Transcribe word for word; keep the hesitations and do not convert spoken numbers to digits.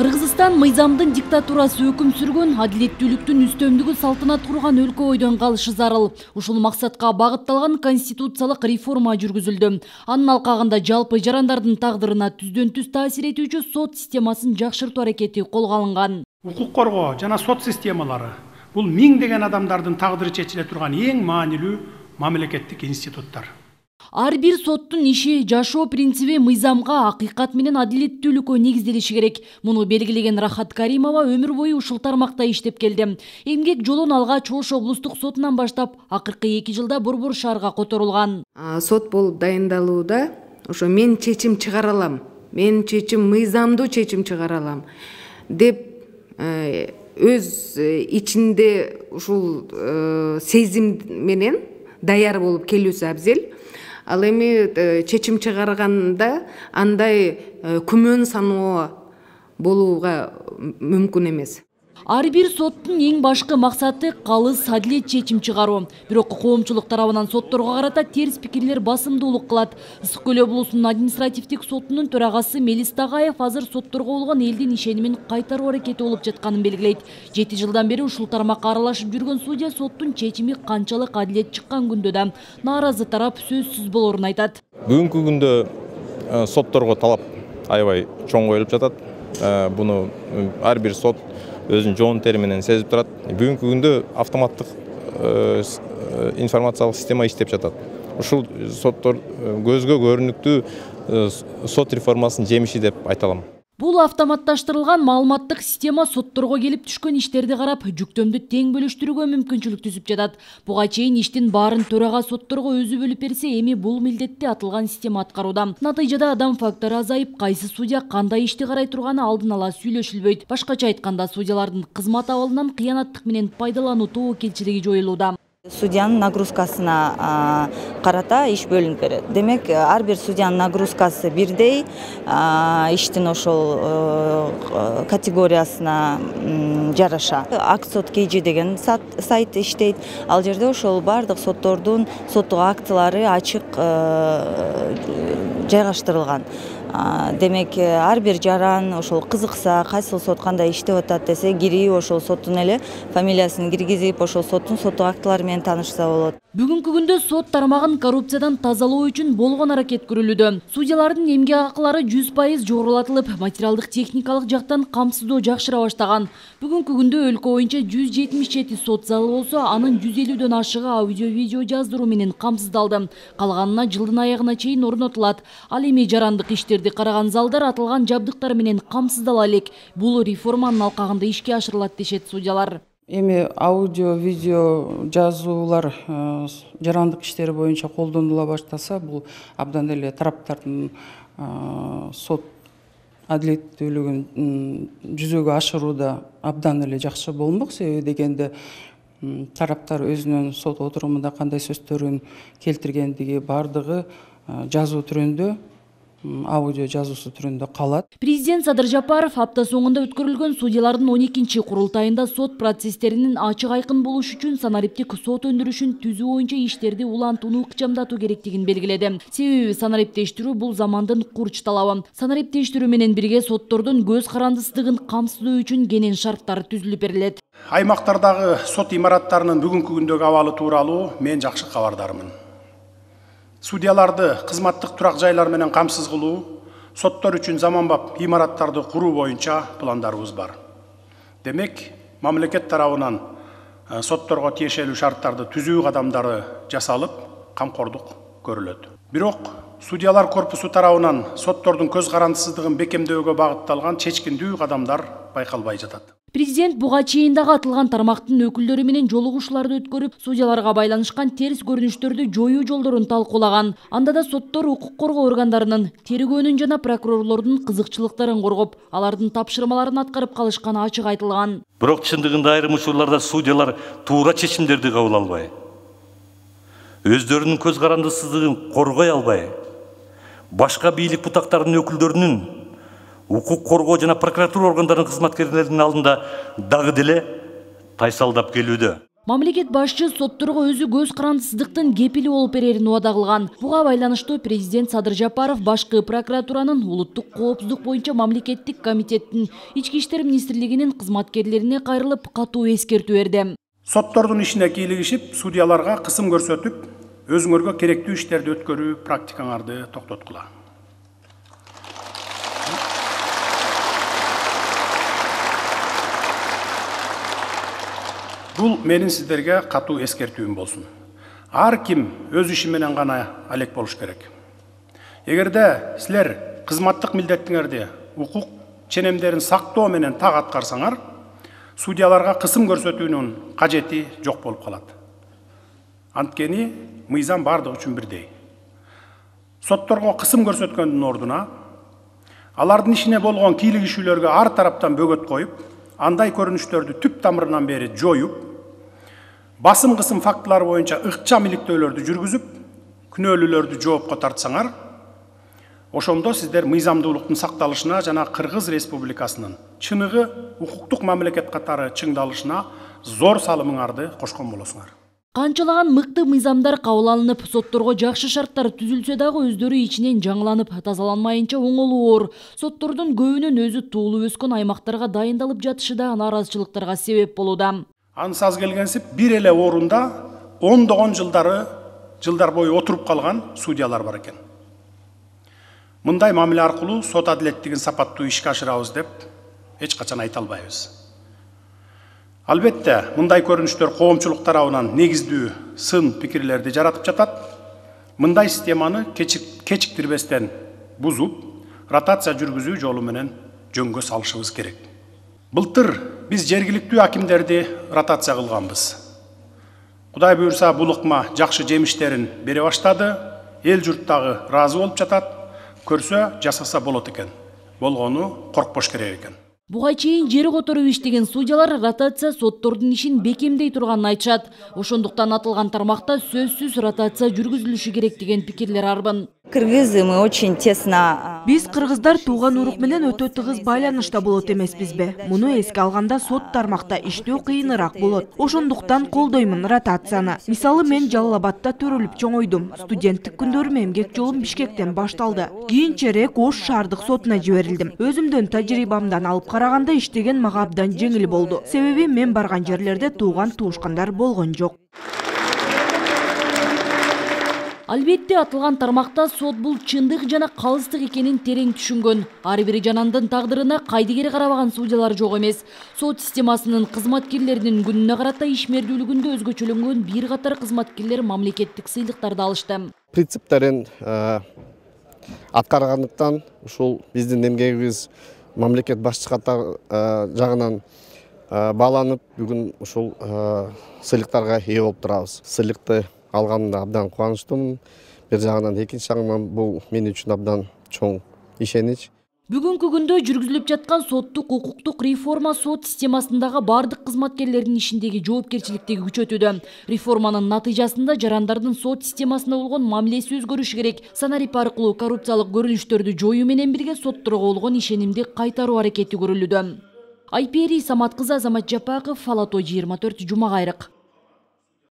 Кыргызстан мыйзамдын диктатурасы өкүм сүргөн, адилеттүүлүктүн үстөмдүгү салтанат курган өлкө бойдон калышы зарыл. Ушул максатка багытталган конституциялык реформа жүргүзүлдү. Анын алкагында жалпы жарандардын тагдырына түздөн түз таасир этүүчү сот системасын жакшыртуу аракети колго алынган. Укук коргоо жана сот системалары бул миңдеген адамдардын тагдыры чечиле турган эң маанилүү мамлекеттик институттар. Ар бир соттун иши жашоо принциби мыйзамга, акыйкат менен адилеттүүлүккө негизделиши керек. Муну белгилеген Рахат Каримова өмүр бою ушул тармакта иштеп келди. Эмгек жолун алгач Ош облустук сотунан баштап акыркы эки жылда Борбор шаарга которулган. Сот болуп дайындалууда ошо мен чечим чыгара алам, мен чечим мыйзамдуу чечим чыгара алам деп өз ичинде ушул сезим менен даяр болуп келүүсү абзел. Ал эми чечим чыгарганда андай күмөн саноо болууга мүмкүн эмес. Ар бир соттун эң башкы максаты калыс адилет чечим чыгаруу. Бирок коомчулук тарабынан сотторго карата терс пикирлер басымдуулук кылат. Ысык Көл облусунун административдик сотунун төрагасы Мелис Тагаев азыр сотторго болгон элдин ишенимин кайтаруу аракети болуп жатканын белгилейт. жети жылдан бери ушул тармакка аралашып жүргөн судья соттун чечими канчалык адилет чыккан күндө да нааразы тарап сөзсүз болорун айтат. Бүгүнкү күндө сотторго талап аябай чоң коюлуп жатат. Буну ар бир сот өзүнүн жоон тери менен сезип турат. Бүгүнкү күндө автоматтык информациялык система иштеп жатат. Ушул соттор көзгө көрүнүктүү сот реформасынын жемиши деп айта алам. Бул автоматташтырылган маалыматтык система сотторго келип түшкөн иштерди карап, жүктөмдү тең бөлүштүрүүгө мүмкүнчүлүк түзүп жатат. Буга чейин иштин баарын төрага сотторго өзү бөлүп берсе, эми бул милдетти атылган система аткарууда. Натыйжада адам фактору азайып, кайсы судья кандай ишти карай турганы алдын ала сүйлөшүлбөйт. Башкача айтканда, судьялардын кызмат абалынан кыянаттык менен пайдалануу тобокелчилиги жоюлууда. Судьянын нагрузкасына карата иш бөлүнүп берет. Демек, ар бир судьянын нагрузкасы бирдей, иштин ошол категориясына жараша. Аксот кей джи деген сайт иштейт. Ал жерде ошол бардык соттордун соттук актылары ачык жайгаштырылган. Демек, ар бир жаран ошол кызыкса, кайсыл сот кандай иштеп атат десе, кирип ошол соттун эле фамилиясын киргизип, ошол соттун соттук актылары менен таанышса болот. Бүгүнкү күндө сот тармагын коррупциядан тазалоо үчүн болгон аракет көрүлүүдө. Судьялардын эмгек акылары жүз пайыз жогорулатылып, материалдык техникалык жактан камсыздоо жакшыра баштаган. Бүгүнкү күндө өлкө боюнча жүз жетимиш жети сот залы болсо, анын жүз элүүдөн ашыгы аудио-видео жаздыруу менен камсыздалды. Калганына жылдын аягына чейин орнотулат. Ал эми жарандык иштерди караган залдар атылган жабдыктар менен камсыздала элек. Бул реформанын алкагында ишке ашырылат дешет судьялар. Эми аудио, видео жазуулар жарандык иштери боюнча колдонула баштаса, бул абдан эле тараптардын сот адилеттүүлүгүн жүзөгө ашырууда абдан эле жакшы болмок. Себеби дегенде тараптар өзүнүн сот отурумунда кандай сөздөрүн келтиргендиги бардыгы жазуу түрүндө, аудио жазуусу түрүндө калат. Президент Садыр Жапаров апта соңунда өткөрүлгөн судьялардын он экинчи курултайында сот процесстеринин ачык айкын болушу үчүн санариптик сот өндүрүшүн түзүү боюнча иштерди улантууну ыкчамдатуу керектигин белгиледи. Себеби санариптештирүү бул замандын курч талабы. Санариптештирүү менен бирге соттордун көз карандысыздыгын камсыздоо үчүн кенен шарттар түзүлүп берилет. Аймактардагы сот имараттарынын бүгүнкү күндөгү абалы тууралуу мен жакшы кабардармын. Судьяларды кызматтык турак жайлар менен камсыз кылуу, соттор үчүн заманбап имараттарды куруу боюнча пландарыбыз бар. Демек, мамлекет тарабынан сотторго тиешелүү шарттарды түзүү кадамдары жасалып, камкордук көрүлөт. Бирок, судьялар корпусу тарабынан соттордун көз карандысыздыгын бекемдөөгө багытталган чечкиндүү кадамдар байкалбай жатат. Президент буга чейин дагы атылган тармактын өкүлдөрү менен жолугушууларды өткөрүп, судьяларга байланышкан терс көрүнүштөрдү жоюу жолдорун талкуулаган. Анда да соттор укук коргоо органдарынын, тергөөнүн жана прокурорлордун кызыкчылыктарын коргоп, алардын тапшырмаларын аткарып калышканы ачык айтылган. Бирок чындыгында айрым учурларда судьялар туура чечимдерди кабыл албай, өздөрүнүн көз карандысыздыгын коргой албай, башка бийлик бутактарынын өкүлдөрүнүн, укук коргоо жана прокуратура органдарынын кызматкерлеринин алдында дагы деле тайсалдап келүүдө. Мамлекет башчы сотторго өзү көз карандысыздыктын кепили болуп берерин убада кылган. Буга байланыштуу президент Садыр Жапаров башкы прокуратуранын улуттук коопсуздук боюнча мамлекеттик комитеттин ички иштер министрлигинин кызматкерлерине кайрылып катуу эскертүү берди. Соттордун ишине кийлигишип, судьяларга кысым көрсөтүп, өзүңөргө керектүү иштерди өткөрүү практикаңарды токтоткула. Бул менин сиздерге катуу эскертүүм болсун. Ар ким өз иши менен гана алек болуш керек. Эгерде силер кызматтык милдетиңерди укук ченемдерин сактоо менен так аткарсаңар, судьяларга кысым көрсөтүүнүн кажети жок болуп калат. Анткени мыйзам бардык үчүн бирдей. Сотторго кысым көрсөткөндүн ордуна алардын ишине болгон кийлигишүүлөргө ар тараптан бөгөт коюп, андай көрүнүштөрдү түп тамырынан бери жоюп, басым кысым фактылары боюнча ыкчам иликтөөлөрдү жүргүзүп, күнөөлүүлөрдү жоопко тартсаңар, ошондо сиздер мыйзамдуулуктун сакталышына жана Кыргыз Республикасынын чыныгы укуктук мамлекет катары чыңдалышына зор салымыңарды кошкон болосуңар. Канчалаган мыкты мыйзамдар кабыл алынып, сотторго жакшы шарттар түзүлсө дагы өздөрү ичинен жаңыланып, тазаланмайынча оңолуу оор. Соттордун көбүнүн өзү туулуп өскөн аймактарга дайындалып жатышы да нааразычылыктарга себеп болууда. Ансаз келгенсип бир эле орунда ондогон жылдары жылдар бою отуруп калган судьялар бар экен. Мындай мамиле аркылуу сот адилеттигин сапаттуу ишке ашырабыз деп эч качан айта албайбыз. Албетте, мындай көрүнүштөр коомчулук тарабынан негиздүү сын пикирлерди жаратып жатат. Мындай системаны кечиктирбестен бузуп, ротация жүргүзүү жолу менен жөнгө салышыбыз керек. Былтыр биз жергиликтүү акимдерди ротация кылганбыз. Кудай буйрса, бул ыкма жакшы жемиштерин бере баштады. Эл журт дагы ыраазы болуп жатат. Көрсө жасаса болот экен. Болгону коркпош керек экен. Буга чейин жери которуп иштеген судьялар ротация соттордун ишин бекемдей турганын айтышат. Ошондуктан атылган тармакта сөзсүз ротация жүргүзүлүшү керек деген пикирлер арбын. Кыргызы мы очень тесно. Биз кыргыздар тууган урук менен өтө тыгыз байланышта болот эмеспизби? Муну эске алганда сот тармакта иштөө кыйыныраак болот. Ошондуктан колдоймун ротацияны. Мисалы, мен Жалал Абадта төрөлүп чоңойдум. Студенттик күндөрүм эмгек жолум Бишкектен башталды. Кийинчерээк Ош шаардык сотуна жиберилдим. Өзүмдүн тажрыйбамдан алып караганда иштеген мага абдан жеңил болду. Себеби мен барган жерлерде тууган туушкандар болгон жок. Албетте, атылган тармакта сот бул чындык жана калыстык экенин терең түшүнгөн. Ар бир жанандын тагдырына кайдыгер карабаган судьялар жок эмес. Сот системасынын кызматкерлеринин күнүнө карата ишмердүүлүгүндө өзгөчөлөнгөн бир катар кызматкерлер мамлекеттик сыйлыктарды алышты. Принциптерин аткаргандыктан ушул биздин эмгегибиз мамлекет башчы катар жагынан бааланып, бүгүн ушул сыйлыктарга ээ болуп турабыз. Сыйлыкты алганымда абдан кубанычтымын. Бир жагынан, экинчи жагынан бул мен үчүн абдан чоң ишенич. Бүгүнкү күндө жүргүзүлүп жаткан соттук укуктук реформа сот системасындагы бардык кызматкерлердин ишиндеги жоопкерчиликтиги күчөтүүдө. Реформанын натыйжасында жарандардын сот системасына болгон мамилеси өзгөрүшү керек. Санарип аркылуу коррупциялык көрүнүштөрдү жоюу менен бирге сотторго болгон ишенимди кайтаруу аракети көрүлүүдө. Айпери Самат кызы, Азамат Жапаков, Фалато жыйырма төрт, Жума кайрык.